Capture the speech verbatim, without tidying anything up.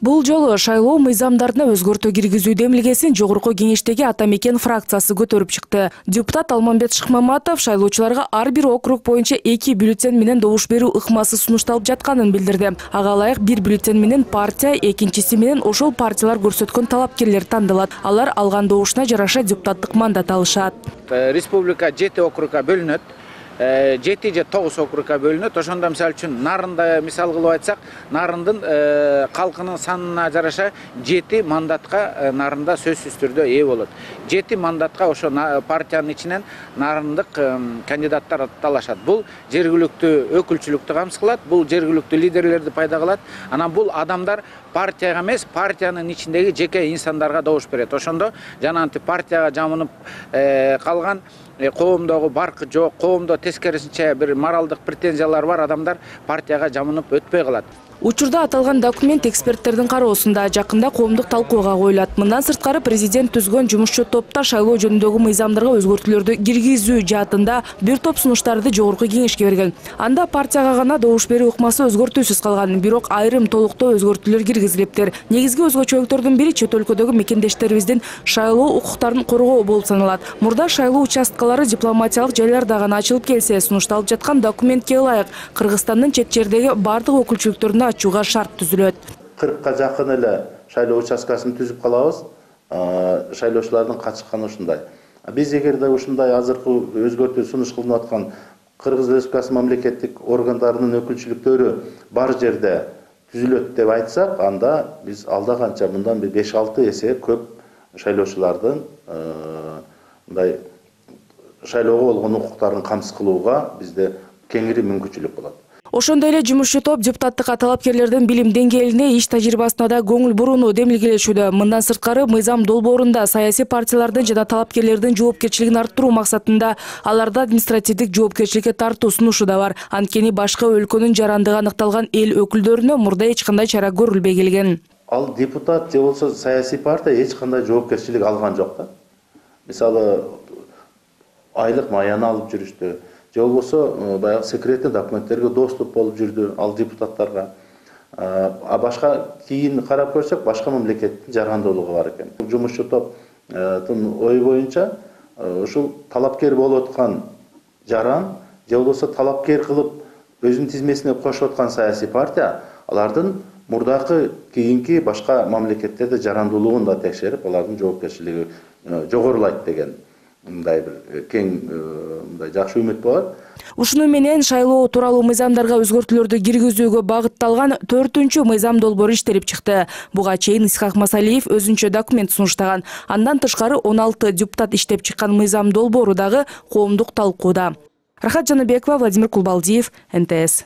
Бул жолу шайлоо мыйзамдарына өзгөртүү киргизүү демилгесин жогорку кеңештеги ата мекен фракциясы көтөрүп чыкты. Депутат Алмамбет Шыкмаматов шайлоочуларга ар бир округ боюнча эки бюллетень менен добуш берүү ыкмасы сунушталып жатканын билдирди. Ага ылайык бир бюллетень менен партия, экинчиси менен ошол партиялар көрсөткөн талапкерлер тандалат. Алар алган добушуна жараша депутаттык мандат алышат. Республика жети округга бөлүнөт. жети же тогуз округга бөлүнөт. Ошондо мисалы үчүн Нарында мисал кылып айтсак, Нарындын калкынын санына жараша жети мандатка Нарында сөзсүз түрдө ээ болот. жети мандатка ошо партиянын ичинен нарындык кандидаттар талашат. Бул жергиликтүү өкүлчүлүктү камсыз кылат, бул жергиликтүү лидерлерди пайда кылат. Анан бул адамдар партияга эмес, партиянын ичиндеги жеке инсандарга добуш берет. Ошондо жанагынтип партияга жамынып калган, коомдогу баркы жок, коомдо тескерисинче бир моралдык претензиялар бар адамдар партияга жамынып өтпөй калат. Учурда аталган документ эксперттердин кароосунда, жакында коомдук талкууга коюлат. Мындан сырткары президент түзгөн жумушчу топта шайлоо жөнүндөгү мыйзамдарга өзгөртүүлөрдү киргизүү жаатында бир топ сунуштарды жогорку кеңешке берген. Анда партияга гана добуш берүү ыкмасы өзгөртүүсүз калган, бирок айрым толуктоо өзгөртүүлөр киргизилиптир. Негизги өзгөчөлүктөрдүн бири чет өлкөдөгү мекендештерибиздин шайлоо укуктарын коргоо болуп саналат. Мурда шайлоо участкалары дипломатиялык жайларда гана ачылып келсе, сунушталып жаткан документке ылайык Кыргызстандын чет жердеги бардык өкүлчүлүктөрүнө ачууга шарт түзүлөт. кыркка жакын эле шайлоо участкасын түзүп калабыз. Шайлоочулардын катышканы ушундай. Биз эгерде ушундай азыркы өзгөртүү сунуш кылынып аткан Кыргыз Республикасы мамлекеттик органдарынын өкүлчүлүктөрү бар жерде түзүлөт деп айтсак, анда биз алда канча мындан беш алты эсе көп шайлоочулардын мындай шайлоого болгон укуктарын камсыз кылууга бизде кеңири мүмкүнчүлүк болот. Ошондой эле жумушчу топ депутаттык талапкерлердин билим деңгээлине, иш тажрыйбасына да көңүл бурууну демилгелешүүдө. Мындан сырткары мыйзам долбоорунда саясий партиялардын жана талапкерлердин жоопкерчилигин арттыруу максатында аларды административдик жоопкерчиликке тартуу сунушу да бар. Анткени башка өлкөнүн жарандыгы аныкталган эл өкүлдөрүнө мурда эч кандай чара көрүлбөй келген. Ал депутат же болсо саясий партия эч кандай жоопкерчилик алган жок да. Мисалы айлык маяны алып жүрүштү. Же болбосо баягы секретный документтерге доступ болуп жүрдү ал депутаттарга. А башка кийин карап көрсөк, башка мамлекеттин жарандуулугу бар экен. Жумушчу топтун ою боюнча ушул талапкер болуп аткан жаран же болбосо талапкер кылып өзүнүн тизмесине кошуп аткан саясий партия алардын мурдакы кийинки башка мамлекеттерде жарандуулугун да текшерип, алардын жоопкерчилиги жогорулайт деген мындай бир кең мындай жакшы үмүт бар. Ушуну менен шайлоо тууралуу мыйзамдарга өзгөртүүлөрдү киргизүүгө багытталган төртүнчү мыйзам долбоору иштелип чыкты. Буга чейин Исхак Масалиев өзүнчө документ сунуштаган. Андан тышкары он алты депутат иштеп чыккан мыйзам долбоору дагы коомдук талкууда. Рахат Жаныбекова, Владимир Кулбалдиев, эн тэ эс.